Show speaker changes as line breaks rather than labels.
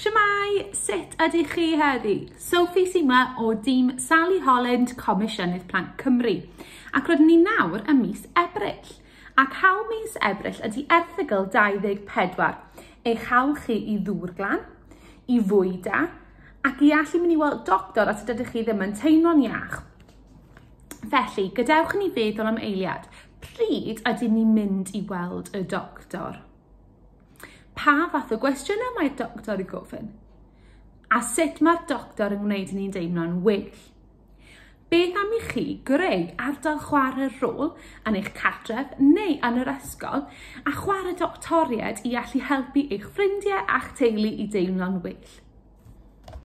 Shwmae, sut ydych chi heddi? Sophie sy 'ma o dîm Sally Holland, Comisiynydd Plant Cymru. Ac rydyn ni nawr ym mis Ebrill. Ac hawl mis Ebrill ydy erthygl 24, eich hawl chi i ddŵr glân, i fwyd da, ac i allu mynd i weld doctor os ydych chi ddim yn teimlo'n iach. Felly, gadewch i ni feddwl am eiliad. Pryd ydyn ni'n mynd i weld y doctor? Pa fath o gwestiynau mae'r doctor yn gofyn? A sut mae'r doctor yn gwneud i ni'n deimlo'n well? Beth am i chi greu ardal chwarae rôl yn eich cartref neu yn yr ysgol a chwarae doctoriaid i allu helpu eich ffrindiau a'ch teulu i deimlo'n well?